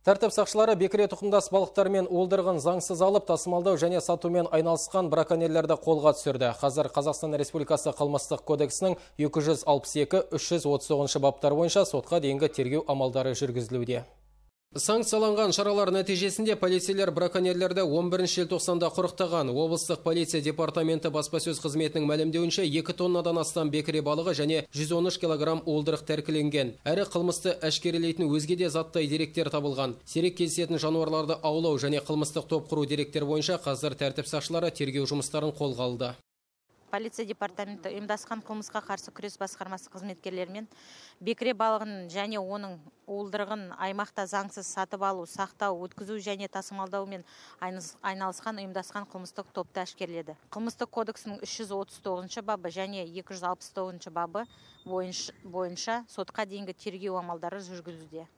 Тәртіп сақшылары бекіре тұқымдас балықтар мен уылдырығын заңсыз алып, тасымалдау және сатумен айналысқан браконьерлерді қолға түсірді. Қазір Қазақстан Республикасы қылмыстық кодексінің 262-339 баптар бойынша сотқа дейінгі тергеу амалдары жүргізілуде. Санкцияланған шаралар нәтижесінде полицейлер браконьерлерді 11 желтоқсанда құрықтаған. Облыстық полиция департаменті баспасөз қызметінің мәлімдеуінше 2 тоннадан астам бекіре балығы және 113 килограмм уылдырық тәркіленген. Әрі қылмысты әшкерелейтін өзге де заттай деректер табылған. Сирек кездесетін жануарларды аулау және қылмыстық топ құру деректер бойынша қазір тәртіп сақшылары тергеу жұмыстарын қолға алды. Полиция департаменті ұйымдасқан қылмысқа қарсы күрес басқармасы қызметкерлерімен бекіре балығын және оның уылдырығын аймақта заңсыз сатып алу, сақтау, өткізу және тасымалдаумен айналысқан ұйымдасқан қылмыстық топты әшкереледі. Қылмыстық кодексінің 339 бабы және 269 бабы бойынша сотқа дейінгі тергеу амалдары жүргізілуде.